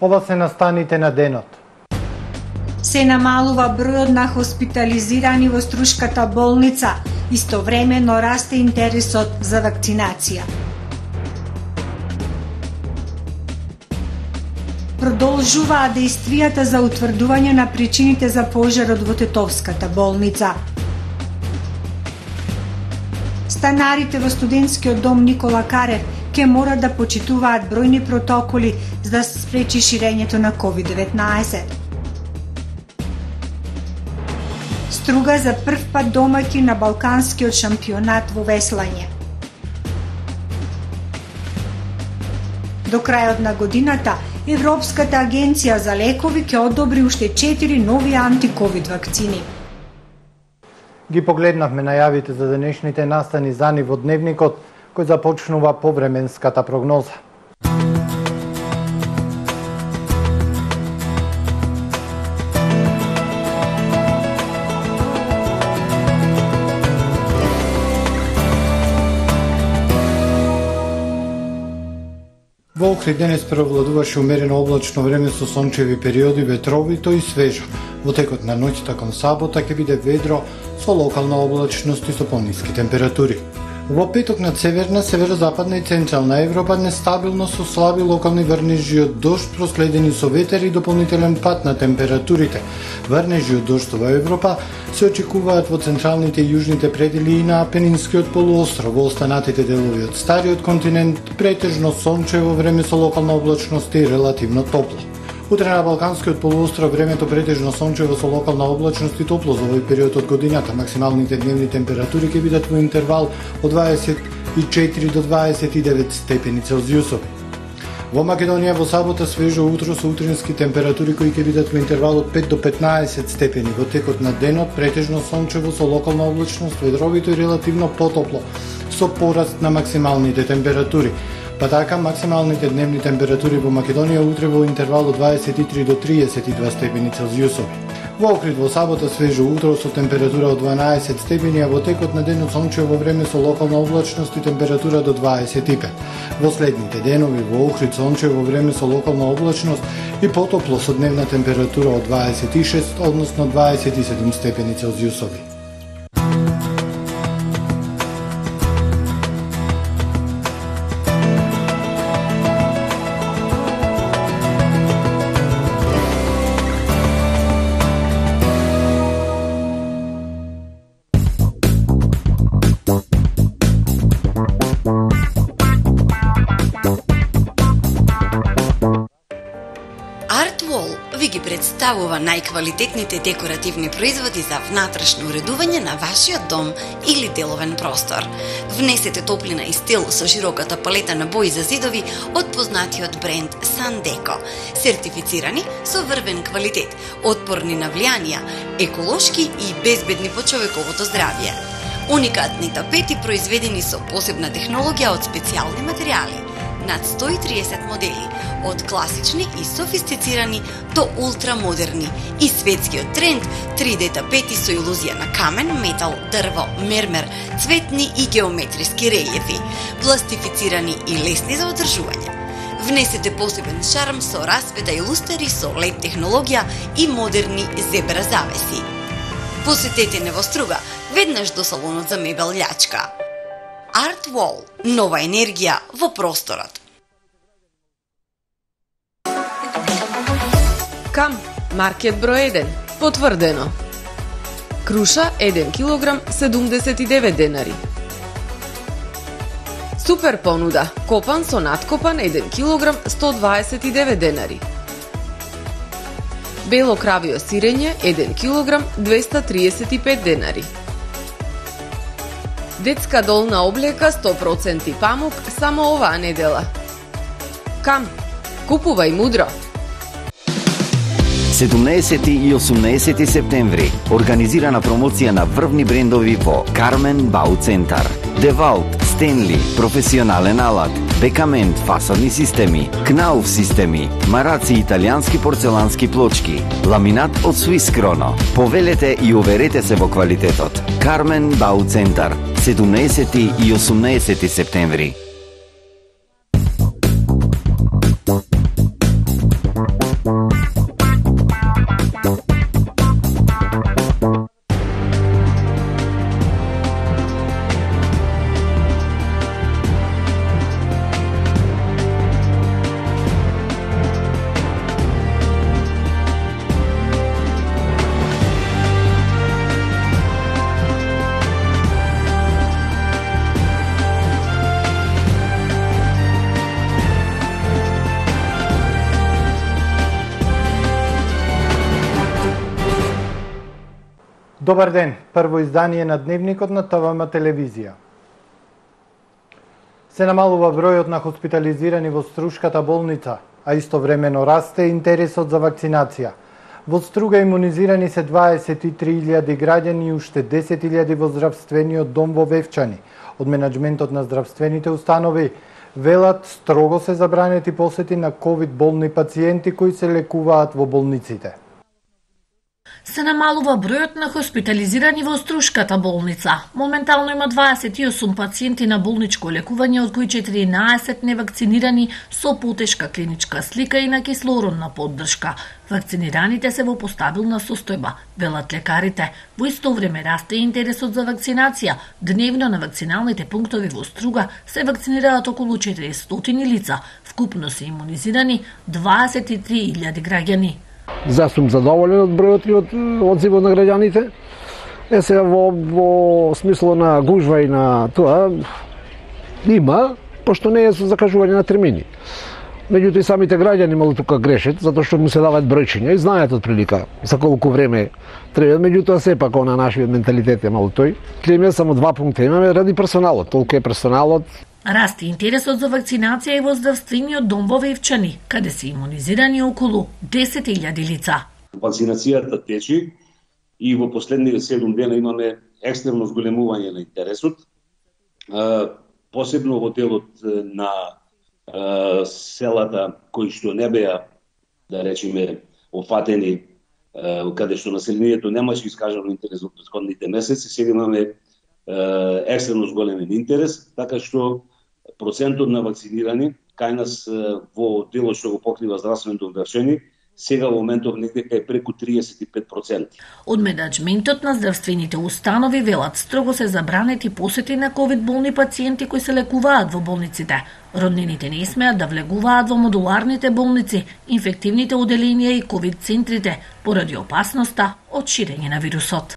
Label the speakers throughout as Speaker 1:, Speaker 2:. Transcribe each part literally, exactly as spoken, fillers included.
Speaker 1: Ова се настаните на денот.
Speaker 2: Се намалува бројот на хоспитализирани во Струшката болница, истовремено расте интересот за вакцинација. Продолжуваат действијата за утврдување на причините за пожарот во Тетовската болница. Станарите во студентскиот дом Никола Карев ќе морат да почитуваат бројни протоколи за да се спречи ширењето на ковид деветнаесет. Струга за прв пат домаќин на Балканскиот шампионат во веслање. До крајот на годината, Европската агенција за лекови ќе одобри уште четири нови антиковид вакцини.
Speaker 1: Ги погледнавме најавите за денешните настани за ни во дневникот, кој започнува повременската прогноза. Во Охрид денес преовладуваше умерено облачно време со сончеви периоди, ветровито и свежо. Во текот на ноќта кон сабота ќе биде ведро со локална облачност и со пониски температури. Во петок над северна, северозападна и централна Европа нестабилно со слаби локални врнежи од дожд проследени со ветер и дополнителен пад на температурите. Врнежи од дожд во Европа се очекуваат во централните и јужните предели и на Апенинскиот полуостров. Во останатите делови од стариот континент претежно сончево време со локална облачност и релативно топло. Утре на Балканскиот полуостров времето претежно сончево со локална облачност и топло за овој период од годината. Максималните дневни температури ќе бидат во интервал од дваесет и четири до дваесет и девет степени Целзиусови. Во Македонија во сабота свежо утро со утрински температури кои ќе бидат во интервал од пет до петнаесет степени. Во текот на денот претежно сончево со локална облачност, ветровито и релативно потопло со пораст на максималните температури. Па така, максималните дневни температури во Македонија утре во интервал од дваесет и три до триесет и два степени Целзиусови. Во Охрид во сабота свежо утро со температура од дванаесет степени, а во текот на денот сончево време со локална облачност и температура до дваесет и пет. Во следните денови во Охрид сончево време со локална облачност и потопло со дневна температура од дваесет и шест, односно дваесет и седум степени Целзиусови.
Speaker 3: Представува најквалитетните декоративни производи за внатрешно уредување на вашиот дом или деловен простор. Внесете топлина и стил со широката палета на бои за зидови од познатиот бренд Sandeco, сертифицирани со врвен квалитет, отпорни на влијанија, еколошки и безбедни по човековото здравје. Уникатни тапети произведени со посебна технологија од специјални материјали. Над сто и триесет модели, од класични и софистицирани до ултрамодерни и светскиот тренд три Д тапети со илузија на камен, метал, дрво, мермер, цветни и геометриски релјефи, пластифицирани и лесни за одржување. Внесете посебен шарм со расвета и лустери со лед технологија и модерни зебра завеси. Посетете не во Струга, веднаш до салонот за мебел Љачка. Art Wall – нова енергија во просторот.
Speaker 4: Кам, маркет број еден, потврдено. Круша еден килограм седумдесет и девет денари. Супер понуда, копан со надкопан еден килограм сто дваесет и девет денари. Бело кравио сирење еден килограм двеста триесет и пет денари. Детска долна облека сто проценти памук само оваа недела. Кам, купувај мудро.
Speaker 5: седумнаесети и осумнаесети септември организирана промоција на врвни брендови во Кармен Бау Центар. Девалт, Стенли, професионален алат, Бекамент фасадни системи, Кнауф системи, Мараци италијански порцелански плочки, ламинат од Swiss Chrono. Повелете и уверете се во квалитетот. Кармен Бау Центар, седумнаесети и осумнаесети септември.
Speaker 1: Добар ден, прво издание на Дневникот на ТВМ телевизија. Се намалува бројот на хоспитализирани во Струшката болница, а истовремено расте интересот за вакцинација. Во Струга имунизирани се дваесет и три илјади граѓани и уште десет илјади во здравствениот дом во Вевчани. Од менаџментот на здравствените установи велат строго се забранети посети на ковид болни пациенти кои се лекуваат во болниците.
Speaker 6: Се намалува бројот на хоспитализирани во Струшката болница. Моментално има дваесет и осум пациенти на болничко лекување, од кои четиринаесет невакцинирани со потешка клиничка слика и на кислородна поддршка. Вакцинираните се во постабилна состојба, велат лекарите. Во исто време расте интересот за вакцинација. Дневно на вакциналните пунктови во Струга се вакцинираат околу четиристотини лица. Вкупно се имунизирани дваесет и три илјади граѓани.
Speaker 7: За сум задоволен од бројот и од одзивот на граѓаните. Е сега во, во смисло на гужва и на тоа има, пошто не е со закажување на термини. Меѓутоа и самите граѓани мало тука грешат, затоа што му се даваат бројчиња и знаат од прилика за колку време треба. Меѓутоа сепак на нашиот менталитет е мало тој. Клемја само два пункта имаме ради персоналот, толку е персоналот.
Speaker 6: Расте интересот за вакцинација и во здравствениот дом во Вевчани, каде се имунизирани околу десет илјади лица.
Speaker 8: Вакцинацијата тече и во последните седум дена имаме екстремно зголемување на интересот, посебно во делот на селата кои што не беа, да речеме, офатени, каде што населението немаше искажано интерес во претходните месеци, сега имаме екстремно зголемен интерес, така што процентот на вакцинирани кај нас во делот што го покрива здравственото одвршение сега во моментов некаде е преку триесет и пет проценти.
Speaker 6: Од менаџментот на здравствените установи велат строго се забранети посети на ковид болни пациенти кои се лекуваат во болниците. Роднините не смеат да влегуваат во модуларните болници, инфективните оделенија и ковид центрите поради опасноста од ширење на вирусот.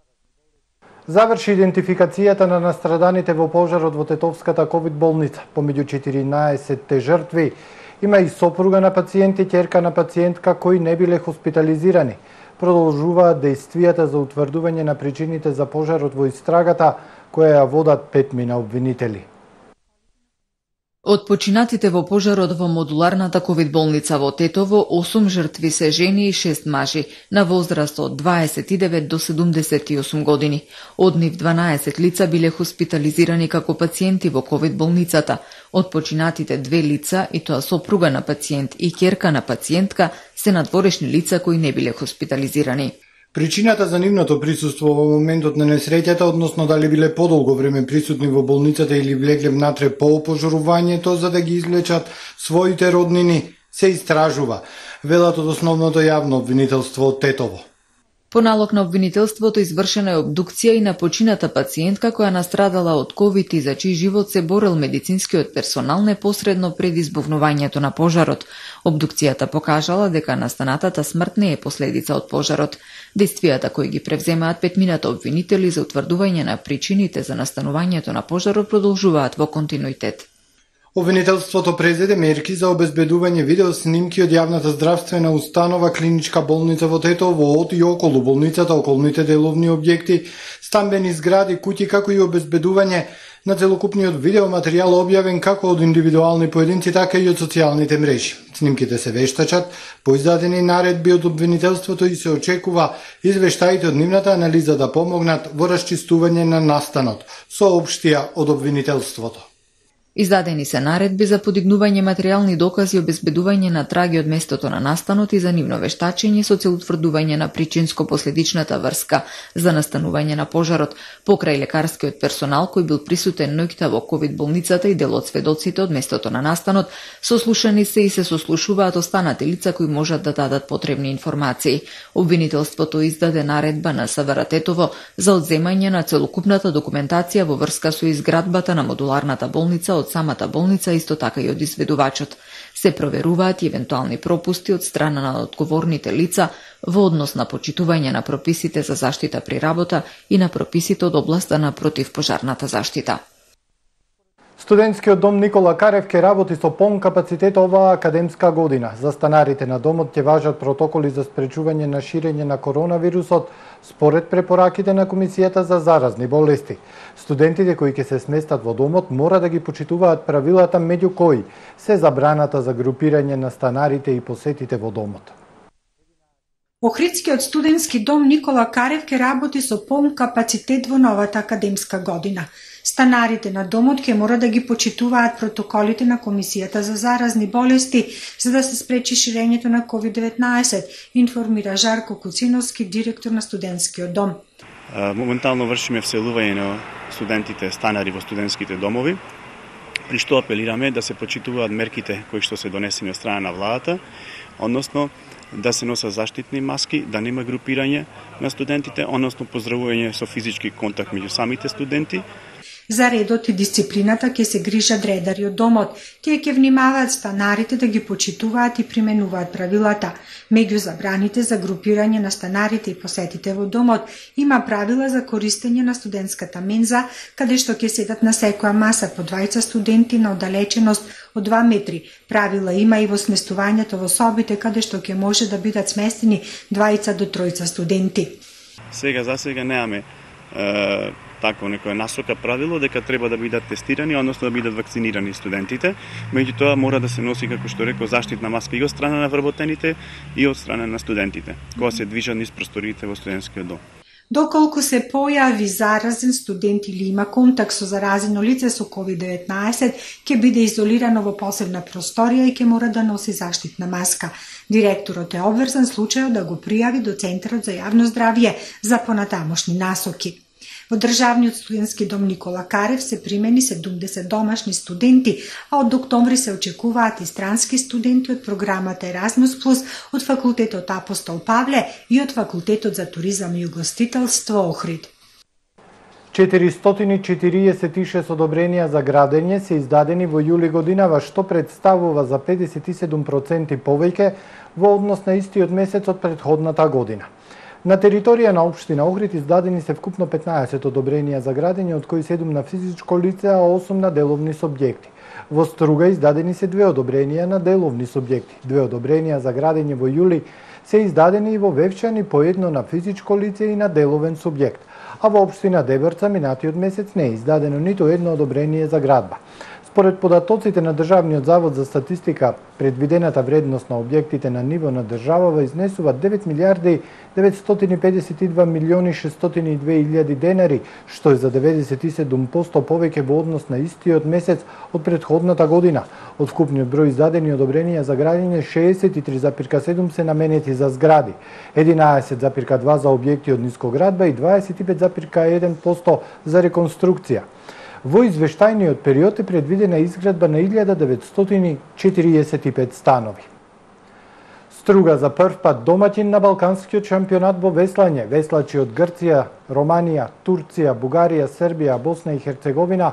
Speaker 1: Заврши идентификацијата на настраданите во пожарот во Тетовската ковид болница. Помеѓу четиринаесетте жртви има и сопруга на пациент и ќерка на пациентка кои не биле хоспитализирани. Продолжуваат дејствијата за утврдување на причините за пожарот во истрагата, која ја водат петмина обвинители.
Speaker 9: Од починатите во пожарот во модуларната ковид болница во Тетово, осум жртви се жени и шест мажи на возраст од дваесет и девет до седумдесет и осум години. Од нив дванаесет лица биле хоспитализирани како пациенти во ковид болницата. Од починатите две лица, и тоа сопруга на пациент и ќерка на пациентка, се надворешни лица кои не биле хоспитализирани.
Speaker 1: Причината за нивното присуство во моментот на несреќата, односно дали биле подолго време присутни во болницата или влегле внатре по опожарувањето за да ги извлечат своите роднини, се истражува, велат од основното јавно обвинителство од Тетово.
Speaker 9: По налог на обвинителството извршена е обдукција и на почината пациентка која настрадала од ковид и за чиј живот се борел медицинскиот персонал непосредно пред избувнувањето на пожарот. Обдукцијата покажала дека настанатата смрт не е последица од пожарот. Дејствијата кои ги превземаат петмината обвинители за утврдување на причините за настанувањето на пожарот продолжуваат во континуитет.
Speaker 1: Обвинителството презеде мерки за обезбедување видеоснимки од јавната здравствена установа клиничка болница во Тетово, од и околу болницата, околните деловни објекти, стамбени згради, куќи, како и обезбедување на целокупниот видеоматеријал објавен како од индивидуални поединци, така и од социјалните мрежи. Снимките се вештачат по издадени наредби од обвинителството и се очекува извештаите од нивната анализа да помогнат во расчистување на настанот, соопштија од обвинителството.
Speaker 9: Издадени се наредби за подигнување материјални докази и обезбедување на траги од местото на настанот и за нивно вештачење со цел утврдување на причинско-последичната врска за настанување на пожарот, покрај лекарскиот персонал кој бил присутен ноќта во ковид болницата и дел од сведоците од местото на настанот, сослушани се и се сослушуваат останати лица кои можат да дадат потребни информации. Обвинителството издаде наредба на СВР Тетово за одземање на целокупната документација во врска со изградбата на модуларната болница од самата болница, исто така и од изведувачот. Се проверуваат и евентуални пропусти од страна на одговорните лица во однос на почитување на прописите за заштита при работа и на прописите од областа на противпожарната заштита.
Speaker 1: Студентскиот дом Никола Карев ќе работи со полн капацитет оваа академска година. За станарите на домот ќе важат протоколи за спречување на ширење на коронавирусот според препораките на Комисијата за заразни болести. Студентите кои ќе се сместат во домот мора да ги почитуваат правилата, меѓу кои се забраната за групирање на станарите и посетите во домот.
Speaker 2: Охридскиот студентски дом Никола Карев ќе работи со полн капацитет во новата академска година. Станарите на домот ќе мора да ги почитуваат протоколите на Комисијата за заразни болести за да се спречи ширењето на ковид деветнаесет, информира Жарко Куциновски, директор на студентскиот дом.
Speaker 10: Моментално вршиме вселување на студентите станари во студентските домови, при што апелираме да се почитуваат мерките кои што се донесени од страна на владата, односно да се носат заштитни маски, да нема групирање на студентите, односно поздравување со физички контакт меѓу самите студенти.
Speaker 2: За редот и дисциплината ќе се грижат редари од домот. Тие ќе внимаваат станарите да ги почитуваат и применуваат правилата. Меѓу забраните за групирање на станарите и посетите во домот има правила за користење на студентската менза, каде што ќе седат на секоја маса по двајца студенти на оддалеченост од два метри. Правила има и во сместувањето во собите, каде што ќе може да бидат сместени двајца до тројца студенти.
Speaker 10: Сега за сега немаме е, такво некоја насока правило дека треба да бидат тестирани, односно да бидат вакцинирани студентите. Меѓутоа мора да се носи, како што реков, заштитна маска и од страна на вработените и од страна на студентите, кога се движат низ просториите во студентскиот дом.
Speaker 2: Доколку се појави заразен студент или има контакт со заразено лице со ковид деветнаесет, ќе биде изолирано во посебна просторија и ќе мора да носи заштитна маска. Директорот е обврзан случајот да го пријави до Центарот за јавно здравје за понатамошни насоки. Во Државниот студентски дом Никола Карев се примени седумдесет домашни студенти, а од октомври се очекуваат и странски студенти од програмата Еразмус плюс, од факултетот Апостол Павле и од факултетот за туризам и угостителство Охрид.
Speaker 1: четиристотини и четириесет и шест одобренија за градење се издадени во јули годинава, што представува за педесет и седум проценти повеќе во однос на истиот месец од претходната година. На територија на општина Охрид издадени се вкупно петнаесет одобренија за градење, од кои седум на физичко лице, а осум на деловни субјекти. Во Струга издадени се две одобренија на деловни субјекти. Две одобренија за градење во јули се издадени и во Вевчани, по едно на физичко лице и на деловен субјект. А во општина Дебрца минатиот месец не е издадено ниту едно одобрение за градба. Според податоците на Државниот завод за статистика, предвидената вредност на објектите на ниво на државава изнесува девет милиарди деветстотини педесет и два милиони шестстотини и две илјади денари, што е за деветдесет и седум проценти повеќе во однос на истиот месец од претходната година. Од вкупниот број издадени одобренија за градење, шеесет и три зарем седум се наменети за згради, единаесет зарем два за објекти од нискоградба и дваесет и пет зарем еден проценти за реконструкција. Во извештајниот период е предвидена изградба на илјада деветстотини четириесет и пет станови. Струга за прв пат домаќин на Балканскиот шампионат во веслање. Веслачи од Грција, Романија, Турција, Бугарија, Србија, Босна и Херцеговина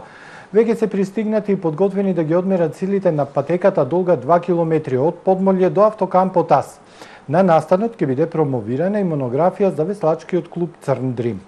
Speaker 1: веќе се пристигнати и подготвени да ги одмерат силите на патеката долга два километри од Подмолје до автокампот Ас. На настанот ќе биде промовирана и монографија за веслачкиот клуб Црн Дрим.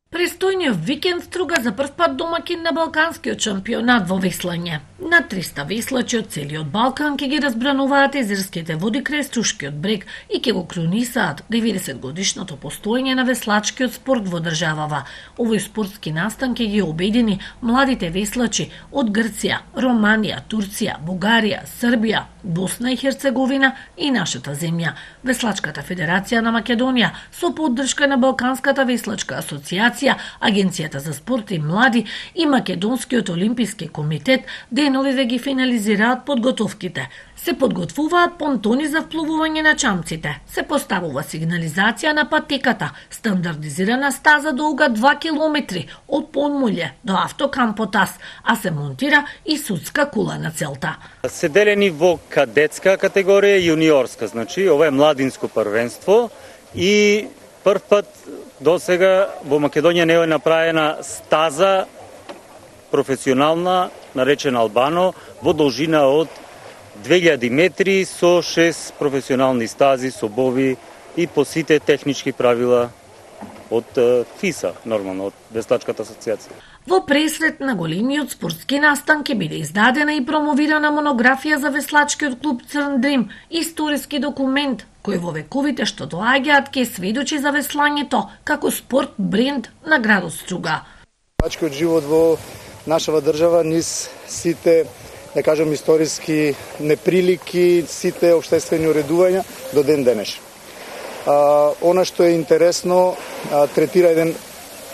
Speaker 6: Престојниот викенд Струга за прв пат домаќин на Балканскиот шампионат во веслање. На триста веслачи од целиот Балкан ќе ги разбрануваат езерските води крај Струшкиот брег и ќе го кронисаат деветдесет годишното постоење на веслачкиот спорт во државава. Овој спортски настан ќе ги обедини младите веслачи од Грција, Романија, Турција, Бугарија, Србија, Босна и Херцеговина и нашата земја. Веслачката федерација на Македонија со поддршка на Балканската веслачка асоциација, Агенцијата за спорт и млади и Македонскиот олимписки комитет деновиве ги финализираат подготовките. Се подготвуваат понтони за вплувување на чамците. Се поставува сигнализација на патеката, стандардизирана стаза долга два километри од Подмолје до автокампот Ас, а се монтира и судска кула на целта.
Speaker 11: Се делени во кадетска категорија и јуниорска, значи ова е младинско првенство и прв пат до сега во Македонија не е направена стаза професионална, наречена Албано, во должина од две илјади метри со шест професионални стази со бови и по сите технички правила од ФИСА, нормално, од Веслачката асоциација.
Speaker 6: Во пресрет на големиот спортски настан ќе биде издадена и промовирана монографија за веслачкиот клуб Црн Дрим, историски документ кој во вековите што доаѓаат ќе сведочи за веслањето како спорт бренд на градот Струга.
Speaker 12: Веслачкиот живот во нашава држава низ сите, да кажам, историски неприлики, сите општествени уредувања до ден денеш. А, она што е интересно, а, третира еден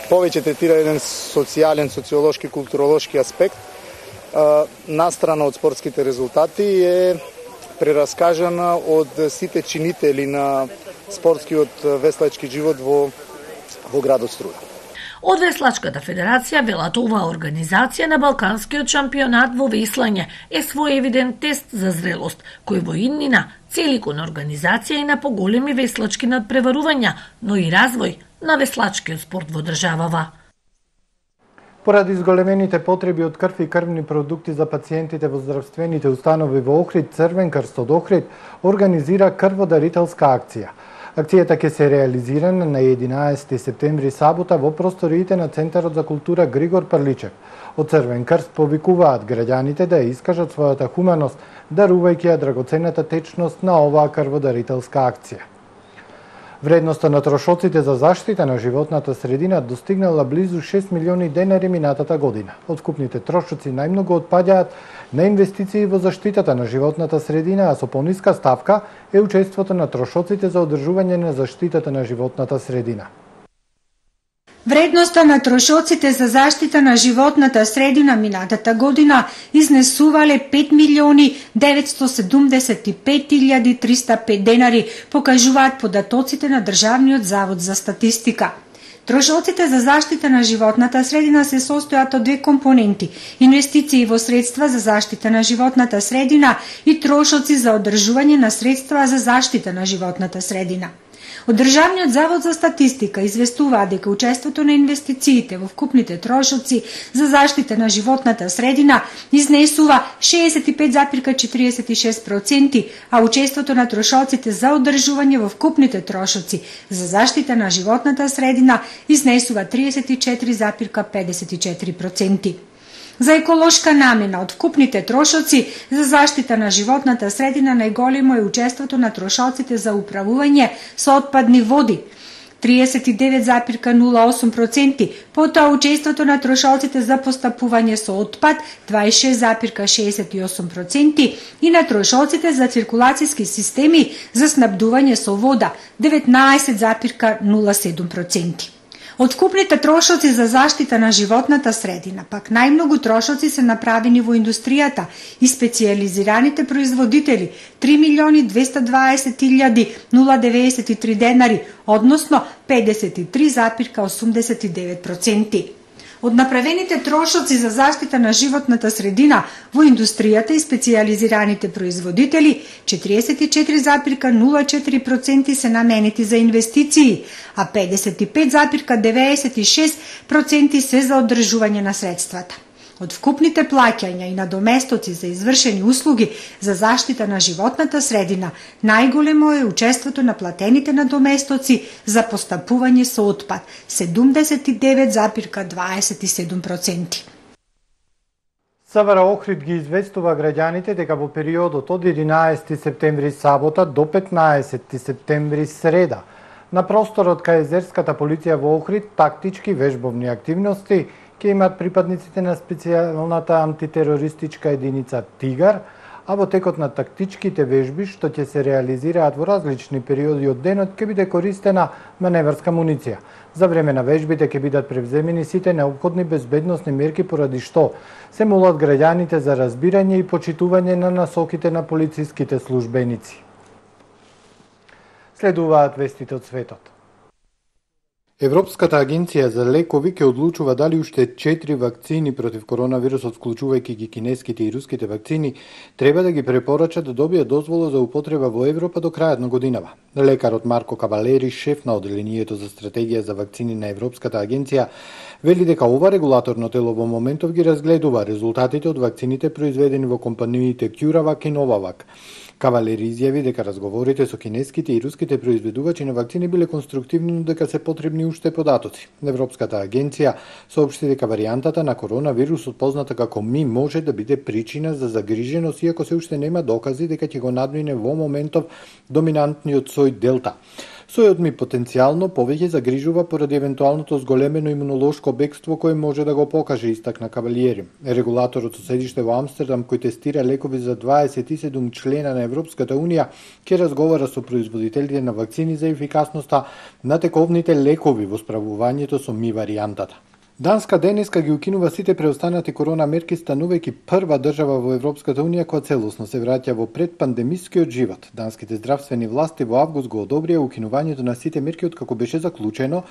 Speaker 12: повеќе третира еден социјален, социолошки, културолошки аспект. А, настрана од спортските резултати е прераскажана од сите чинители на спортскиот веслачки живот во во градот Струга.
Speaker 6: Од Веслачката федерација велат оваа организација на Балканскиот шампионат во веслање е своевиден тест за зрелост, кој во иднина цели кон организација и на поголеми веслачки надпреварувања, но и развој на веслачкиот спорт во државава.
Speaker 1: Поради зголемените потреби од крв и крвни продукти за пациентите во здравствените установи во Охрид, Црвен крст од Охрид организира крводарителска акција. Акцијата ќе се реализира на единаесети септември сабота во просториите на Центарот за култура Григор Прличев. Од Црвен крст повикуваат граѓаните да ја искажат својата хуманост, дарувајќи ја драгоценната течност на оваа крводарителска акција. Вредноста на трошоците за заштита на животната средина достигнала близу шест милиони денари минатата година. Од вкупните трошоци најмногу отпаѓаат на инвестиции во заштитата на животната средина, а со пониска ставка е учеството на трошоците за одржување на заштитата на животната средина.
Speaker 2: Вредноста на трошоците за заштита на животната средина минатата година изнесувале пет милиони деветстотини седумдесет и пет илјади триста и пет денари, покажуваат податоците на Државниот завод за статистика. Трошоците за заштита на животната средина се состојат од две компоненти – инвестиции во средства за заштита на животната средина и трошоци за одржување на средства за заштита на животната средина. Од Државниот завод за статистика известуваат дека учеството на инвестициите во вкупните трошоци за заштита на животната средина изнесува шеесет и пет зарез четириесет и шест проценти, а учеството на трошоците за одржување во вкупните трошоци за заштита на животната средина изнесува триесет и четири зарез педесет и четири проценти. За еколошка намена од вкупните трошоци за заштита на животната средина најголемо е учеството на трошоците за управување со отпадни води триесет и девет зарез нула осум проценти, потоа учеството на трошоците за постапување со отпад дваесет и шест зарез шеесет и осум проценти и на трошоците за циркулацијски системи за снабдување со вода деветнаесет зарез нула седум проценти. Од вкупните трошоци за заштита на животната средина, пак најмногу трошоци се направени во индустријата и специјализираните производители три милиони двесте и дваесет илјади нула деветдесет и три денари, односно педесет и три зарез осумдесет и девет проценти. Од направените трошоци за заштита на животната средина во индустријата и специјализираните производители, четириесет и четири зарез нула четири проценти се наменети за инвестиции, а педесет и пет зарез деветдесет и шест проценти се за одржување на средствата. Од вкупните плаќања и надоместоци за извршени услуги за заштита на животната средина, најголемо е учеството на платените надоместоци за постапување со отпад – седумдесет и девет зарез дваесет и седум проценти.
Speaker 1: СВР Охрид ги известува граѓаните дека во периодот од единаесети септември сабота до петнаесети септември среда на просторот кај Езерската полиција во Охрид тактички вежбовни активности ќе имат припадниците на специјалната антитерористичка единица Тигар, а во текот на тактичките вежби што ќе се реализираат во различни периоди од денот ќе биде користена маневарска муниција. За време на вежбите ќе бидат превземени сите неопходни безбедносни мерки поради што се молат граѓаните за разбирање и почитување на насоките на полициските службеници. Следуваат вестите од светот. Европската агенција за лекови ќе одлучува дали уште четири вакцини против коронавирусот, вклучувајќи ги кинеските и руските вакцини, треба да ги препорача да добијат дозвола за употреба во Европа до крајот на годинава. Лекарот Марко Кавалери, шеф на оделението за стратегија за вакцини на Европската агенција, вели дека ова регулаторно тело во моментов ги разгледува резултатите од вакцините произведени во компаниите CureVac и Novavax. Кавалер изјави дека разговорите со кинеските и руските произведувачи на вакцини биле конструктивни, но дека се потребни уште податоци. Европската агенција соопшти дека варијантата на коронавирусот, позната како Ми, може да биде причина за загриженост, иако се уште нема докази дека ќе го надмине во моментов доминантниот сој Делта. Сојот Ми потенцијално повеќе загрижува поради евентуалното зголемено имунолошко бегство кое може да го покаже, истакна Кавалиери. Регулаторот со седиште во Амстердам, кој тестира лекови за дваесет и седум члена на Европската унија, ќе разговара со производителите на вакцини за ефикасноста на тековните лекови во справувањето со Ми варијантата. Данска денеска ги укинува сите преостанати корона мерки, станувајќи прва држава во Европската унија која целосно се враќа во предпандемискиот живот. Данските здравствени власти во август го одобрија укинувањето на сите мерки откако беше заклучено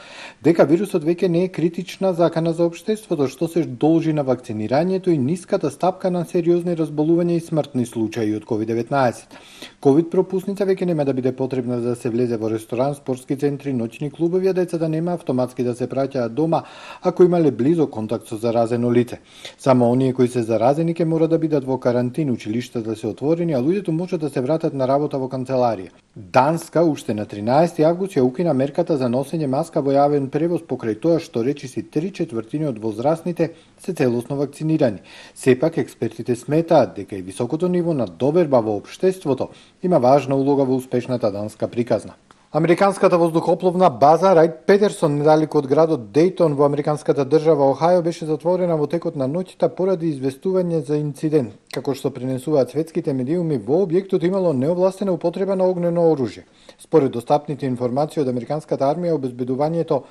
Speaker 1: дека вирусот веќе не е критична закана за општеството, што се должи на вакцинирањето и ниската стапка на сериозни разболувања и смртни случаи од ковид деветнаесет. Ковид пропусница веќе нема да биде потребна за да се влезе во ресторан, спортски центри, ноќни клубови, а децата нема автоматски да се праќаат дома ако имале близок контакт со заразено лице. Само оние кои се заразени ќе мора да бидат во карантин, училиштата да се отворени, а луѓето може да се вратат на работа во канцеларија. Данска уште на тринаесети август ја укина мерката за носење маска во јавен превоз покрај тоа што речиси три четвртини од возрастните се целосно вакцинирани. Сепак експертите сметаат дека и високото ниво на доверба во општеството има важна улога во успешната данска приказна. Американската воздухопловна база Рајт Петерсон недалеку од градот Дејтон во американската држава Охајо беше затворена во текот на ноќта поради известување за инцидент. Како што пренесуваат светските медиуми, во објектот имало неовластена употреба на огнено оружје. Според достапните информации од американската армија, обезбедувањето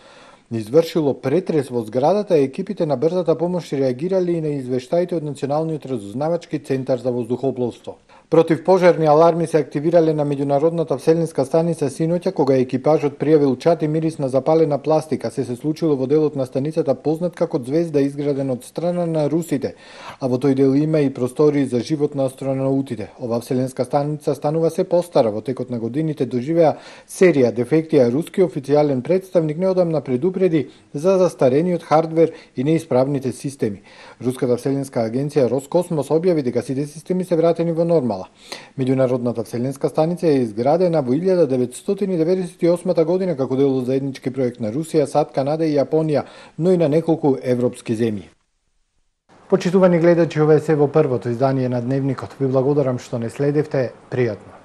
Speaker 1: извршило претрес во зградата, екипите на брзата помош реагирали и на извештаите од Националниот разузнавачки центар за воздухопловство. Противпожарни аларми се активирале на меѓународната вселенска станица синоќа кога екипажот пријавил чат и мирис на запалена пластика. Се се случило во делот на станицата познат како Звезда, изграден од страна на русите, а во тој дел има и простории за живот на астронаутите. Ова вселенска станица станува се постара, во текот на годините доживеа серија дефекти, а руски официјален представник неодамна предупреди за застарениот хардвер и неисправните системи. Руската вселенска агенција Роскосмос објави дека сите системи се вратени во нормала. Меѓународната вселенска станица е изградена во илјада деветстотини деветдесет и осма година како дел од заеднички проект на Русија, САД, Канада и Јапонија, но и на неколку европски земји. Почитувани гледачи, ова е се во првото издание на Дневникот. Ви благодарам што не следевте. Пријатно.